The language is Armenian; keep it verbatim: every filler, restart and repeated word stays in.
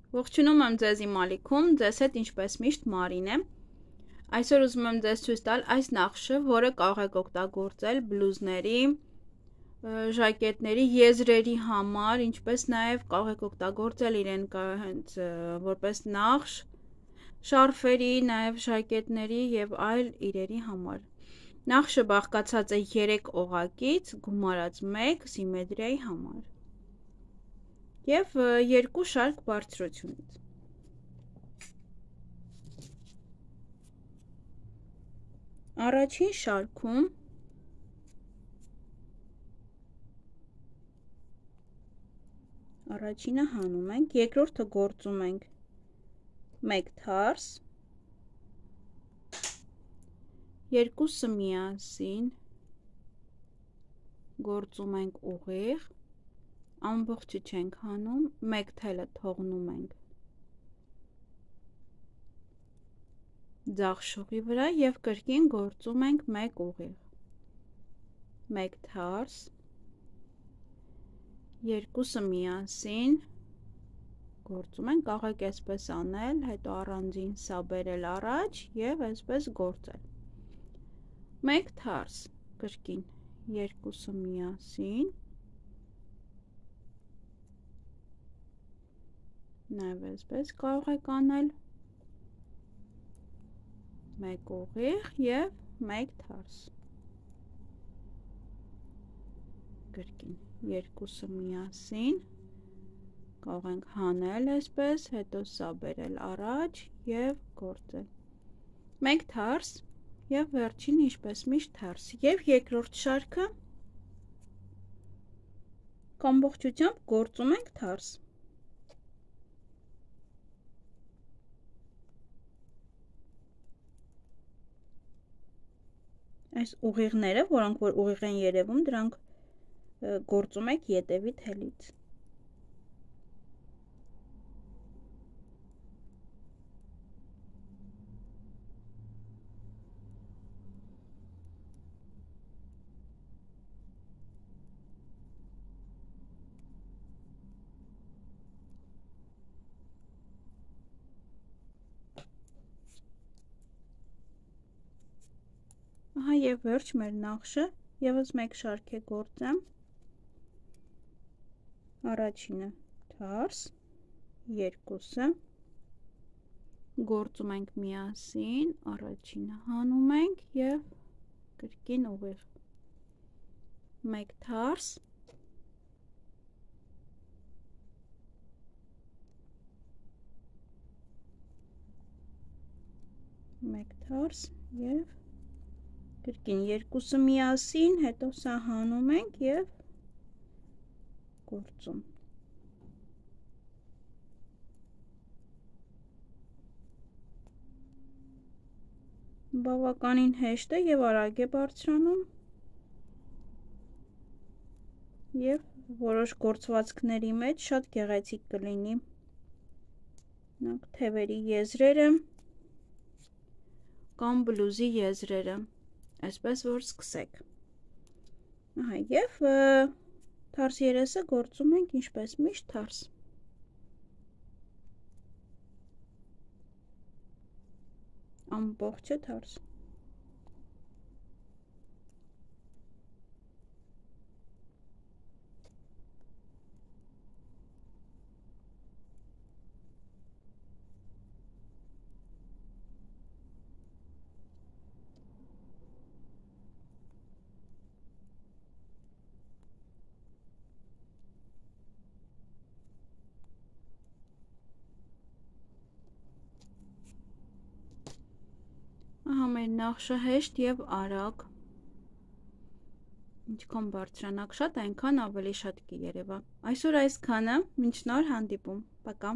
Ողջունում եմ ձեզ իմ ալիքում, ձեզ հետ ինչպես միշտ Մարին է։ Այսօր ուզում եմ ձեզ ցույց տալ այս նախշը, որը կարող եք օգտագործել բլուզների, ժակետների, եզրերի համար, ինչպես նաև կարող եք օգտագործել իրեն հենց որպես նախշ, շարֆերի, նաև ժակետների եւ այլ իրերի համար։ Նախշը բաղկացած է երեք օղակից, գումարած մեկ սիմետրիայի համար և երկու շարք բարձրությունից։ Առաջին շարքում առաջինը հանում ենք, երկրորդը գործում ենք մեկ թարս, երկուսը միասին գործում ենք ուղիղ, ամբողջը չենք հանում, մեկ թելը թողնում ենք ձախ շողի վրա և կրկին գործում ենք մեկ ուղիղ, մեկ թարս, երկուսը միասին գործում ենք, կարող եք այսպես անել, հետո առանձին սա բերել առաջ և այսպես գործել, մեկ թարս, կրկին երկուսը միասին, նաև այսպես կարող եք անել, մեկ ուղիղ և մեկ թարս, կրկին երկուսը միասին, կարող ենք հանել այսպես, հետո սա բերել առաջ և գործել, մեկ թարս և վերջին ինչպես միշտ թարս և երկրորդ շարքը ամբողջությամբ գործում ենք թարս։ Այս ուղիղները, որոնք որ ուղիղ են երևում, դրանք գործում եք ետևի թելից։ Ահա և վերջ մեր նախշը, ևս մեկ շարք է գործեմ, առաջինը թարս, երկուսը, գործում ենք միասին, առաջինը հանում ենք և կրկին ուղիղ, մեկ թարս, մեկ թարս և կրկին երկուսը միասին, հետո սա հանում ենք և գործում։ Բավականին հեշտ է և արագ է բարձրանում և որոշ գործվածքների մեջ շատ գեղեցիկ կլինի։ Թևերի եզրերը կամ բլուզի եզրերը, այսպես որ սկսեք։ Ահա և թարս երեսը գործում ենք ինչպես միշտ թարս։ Ամբողջը թարս։ Ահա մեր նախշը հեշտ և արագ, ինչքան բարձրանաք շատ, այնքան ավելի շատ կերևա։ Այսօր այսքանը, մինչ նոր հանդիպում, պակա։